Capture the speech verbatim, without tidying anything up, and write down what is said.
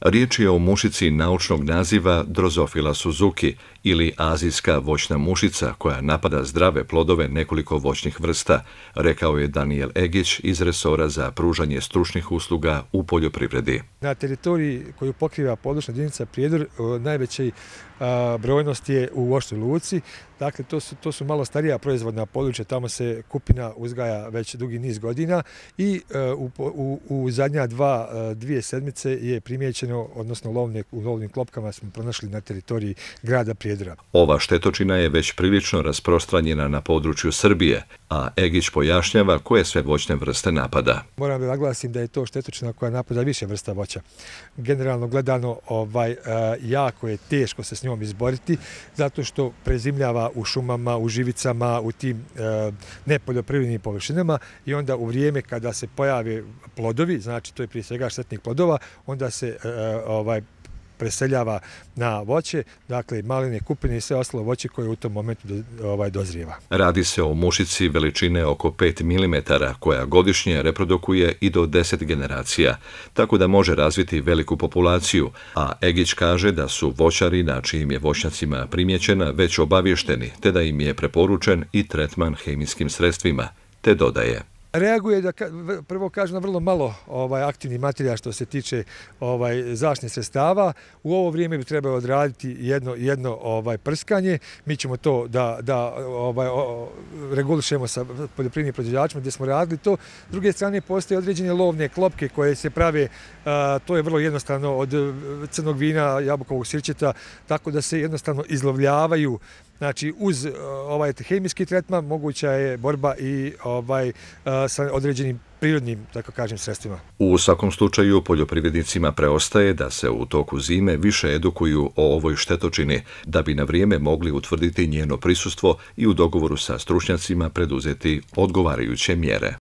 Riječ je o mušici naučnog naziva Drosophila suzuki ili azijska voćna mušica koja napada zdrave plodove nekoliko voćnih vrsta, rekao je Daniel Egić iz resora za pružanje stručnih usluga u poljoprivredi. Na teritoriji koju pokriva područna jedinica Prijedor najveća brojnost je u Voćnoj Luci. Dakle, to su, to su malo starija proizvodna područja, tamo se kupina uzgaja već dugi niz godina i u, u, u zadnja dva, dvije sedmice je primijećeno, odnosno lovne, u lovnim klopkama smo pronašli na teritoriji grada Prijedora. Ova štetočina je već prilično rasprostranjena na području Srbije, a Egić pojašnjava koje sve voćne vrste napada. Moram da naglasim da je to štetočina koja napada više vrsta voća. Generalno gledano, ovaj, jako je teško se s njom izboriti, zato što prezimljava u šumama, u živicama, u tim e, nepoljoprivrednim površinama i onda u vrijeme kada se pojave plodovi, znači to je prije svega štetnih plodova, onda se e, ovaj, preseljava na voće, dakle maline, kupine i sve ostalo voće koje u tom momentu do, ovaj, dozrijeva. Radi se o mušici veličine oko pet milimetara koja godišnje reprodukuje i do deset generacija, tako da može razviti veliku populaciju, a Egić kaže da su voćari na čijim je voćnjacima primjećena već obavješteni, te da im je preporučen i tretman hemijskim sredstvima, te dodaje. Reaguje da prvo kažu na vrlo malo ovaj, aktivni materijal što se tiče ovaj, zaštitnih sredstava. U ovo vrijeme bi trebalo odraditi jedno, jedno ovaj, prskanje. Mi ćemo to da, da ovaj, o, regulišemo sa poljoprivrednim proizvođačima gdje smo radili to. S druge strane, postoje određene lovne klopke koje se prave, a, to je vrlo jednostavno od crnog vina, jabukovog sirćeta, tako da se jednostavno izlovljavaju. Znači, uz ovaj hemijski tretman moguća je borba i ovaj, sa određenim prirodnim, tako kažem, sredstvima. U svakom slučaju, poljoprivrednicima preostaje da se u toku zime više edukuju o ovoj štetočini, da bi na vrijeme mogli utvrditi njeno prisustvo i u dogovoru sa stručnjacima preduzeti odgovarajuće mjere.